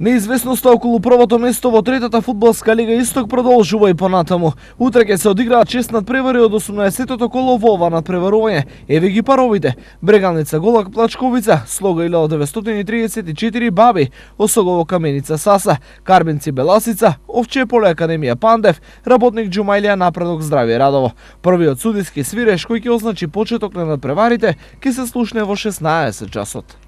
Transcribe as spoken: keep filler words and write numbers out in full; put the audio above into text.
Неизвестноста околу првото место во третата фудбалска лига Исток продолжува и понатаму. Утре ќе се одиграат шест надпревари од осумнаесеттото коло во ова надпреварување. Еве ги паровите: Брегалница Голак Плачковица, Слога илјада деветстотини триесет и четири Баби, Осогово Каменица Саса, Карбенци Беласица, Овче поле Академија Пандев, Работник Џумајлија Напредок Здравје Радово. Првиот судиски свиреш кој ќе означи почеток на надпреварите ќе се слушне во шеснаесет часот.